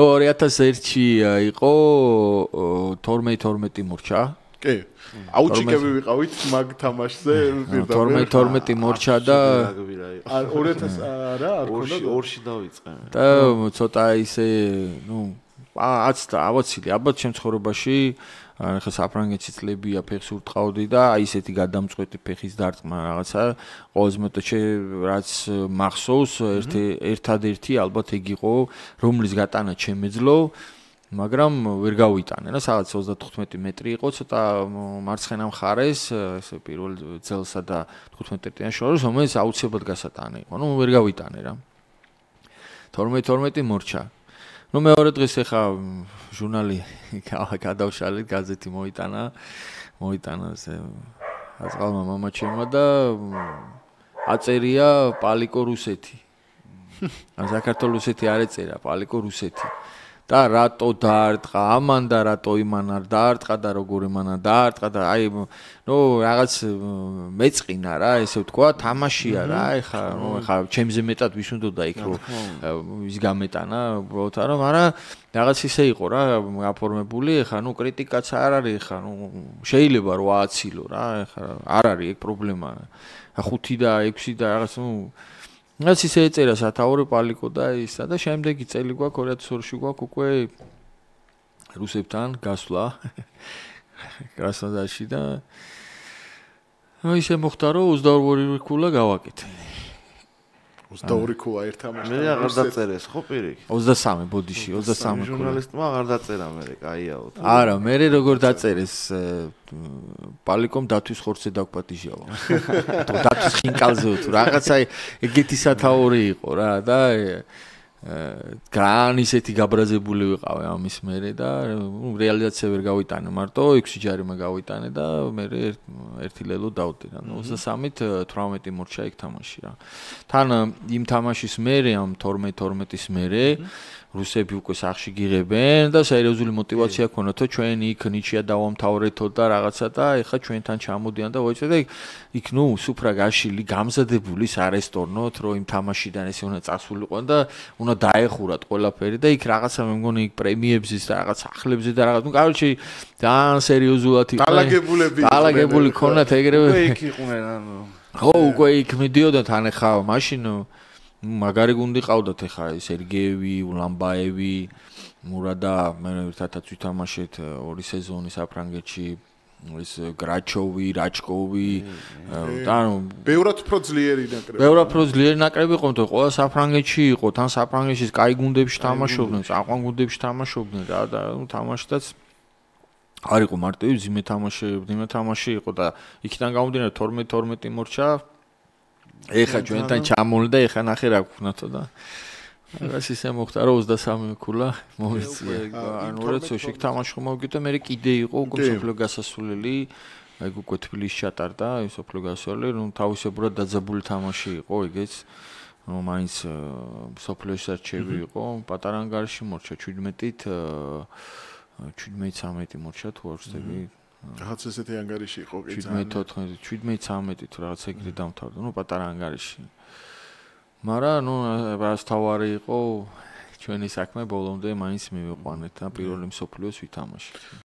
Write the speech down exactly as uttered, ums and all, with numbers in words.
ორი ათას ერთი იყო თორმეტ თორმეტი მორჩა. კი. აუჩიკები ვიყავით მაგ თამაშზე პირდაპირ. თორმეტ თორმეტი მორჩა და ორი ათას არა, არ ქონდა. ორში დავიწყე. და ცოტა ისე, ნუ, აც და ავოცილი, ალბათ შემთხვევაში ახლა საფრანგეთის წლებია ფეხს ურტყავდი და აი ესეთი გადამწყვეტი ფეხის დარტყმა რაღაცა ყოველ მეტოჩე რაც მახსოვს ერთი ერთადერთი ალბათ ეგ იყო რომლის გატანა შემეძლო მაგრამ ვერ გავიტანე რა სადაც ოცდათხუთმეტი მეტრი იყო ცოტა მარცხენა მხარეს ესე პირველ ძელსა და თხუთმეტიან შორის რომელიც აუცილებლად გასატანე იყო ნუ ვერ გავიტანე რა თორმეტ თორმეტი მორჩა ნუ მეორე დღეს ახლა ჟურნალი გადავშალეთ გაზეთი მოიტანა მოიტანა ესე აზღალმა მამაჩემმა და აწერია პალიკო რუსეთი ან საქართველოს რუსეთი არ ეწერა პალიკო რუსეთი და რატო დაარტყა ამან და რატო იმან არ დაარტყა და როგორ იმან არ დაარტყა და აი ნუ რაღაც მეწყინა რა ესე ვთქვა თამაშია რა ეხა ნუ ეხა ჩემზე მეტად ვის უნდა იქ რომ ის გამეტანა უბრალოდ არა მაგრამ რაღაც ისე იყო რა გაფორმებული ეხა ნუ კრიტიკაც არ არის ეხა ნუ შეიძლება რომ ააცილო რა ეხა არ არის ეგ პრობლემა ხუთი და ექვსი და რაღაც ნუ რაც ისე ეწერა სათაური პალიკო და ისა და შემდეგი წელი გვაქვს ორი ათას ორში გვაქვს უკვე რუსებთან გასვლა კრასნოდარში და აი ისე მოხდა რომ ოცდაორი ქულა გავაკეთე ოცდაორი ქულა ერთ თამაშთან მე აღარ დაწერეს ხო პირიქით ოცდასამი ბოდიში ოცდასამი ჟურნალისტმა აღარ დაწერა მე კაიაო არა მე როგორ დაწერეს პალიკომ დათვის ხორცზე დაგპატიჟავა თუ დათვის ხინკალზე თუ რაღაცა ეგეთი სათაური იყო რა და გან ისეთი გაბრაზებული ვიყავე ამის მერე და რეალიზაცია ვერ გავიტანე მარტო ექვსი ჯარიმა გავიტანე და მე ერთი ლელო დავდე რა ოცდასამით თვრამეტი მორჩა იქ თამაში რა თან იმ თამაშის მერე ამ თორმეტ თორმეტის მერე რუსები უკვე სახში გიღებენ და სერიოზული мотиваცია ქონათო ჩვენ იქ ნიჩია დავამთავრეთო და რაღაცა და ეხა ჩვენთან ჩამოდიან და ვაიცე და იქ ნუ სუფრა გაშილი გამზადებული ის არესტორნოთ რომ იმ თამაშიდან ესე უნდა წასულიყო და უნდა დაეხურათ ყველაფერი და იქ რაღაცა მე მგონი იქ პრემიებზის და რაღაც ახლებზე და რაღაც ნუ კაროჩი ძალიან სერიოზულად იყო დალაგებულები დალაგებული ქონათ ეგრევე უკვე იქ იყვნენ ანუ ხო უკვე იქ მიდიოდა თან ეხა მაშინ მაგარი გუნდი ყავდათ ეხა სერგეევი, ულამბაევი, მურადა მე ერთადაც ვითამაშეთ ორი სეზონი საფრანგეთში ის გრაჩოვი, რაჩკოვი და ანუ ბევრად უფრო ძლიერი ნაკრები. ბევრად უფრო ძლიერი ნაკრები იყო, თუმცა ყველა საფრანგეთში იყო, თან საფრანგეთში კაი გუნდებში თამაშობდნენ, წაყვან გუნდებში თამაშობდნენ რა და ნუ თამაშდაც არ იყო მარტივი ძიმე თამაში, ძიმე თამაში იყო და იქიდან გამომდინარე თორმეტ თორმეტი მორჩა ეხა ჩვენთან ჩამოლდა ეხა ნახე რა გქონათო და რაღაც ისე მოხდა რომ ოცდასამი ქულა მომიწია ანუ როცოში თამაში მოვიგე მე კიდე იყო უკვე სოფლო გასასვლელი აი უკვე თბილისში ჩატარდა აი სოფლო გასასვლელი ნუ თავისებურად დაძაბული თამაში იყო ეგეც ნუ მაინც სოფლოს არჩევი იყო პატარა ანგარიში მორჩა შვიდმეტით შვიდმეტ ცამეტი მორჩა თუ არ ვცდები რაღაც ესეთი ანგარიში იყო კი შვიდმეტ ოთხმეტი შვიდმეტ ცამეტი თუ რაღაც ეგრე დამთავრდა ნუ პატარა ანგარიში მაგრამ ნუ რაც თავარი იყო ჩვენი საქმე ბოლომდე მაინც მივიყვანეთ და პირველი მსოფლიოს ვითამაშეთ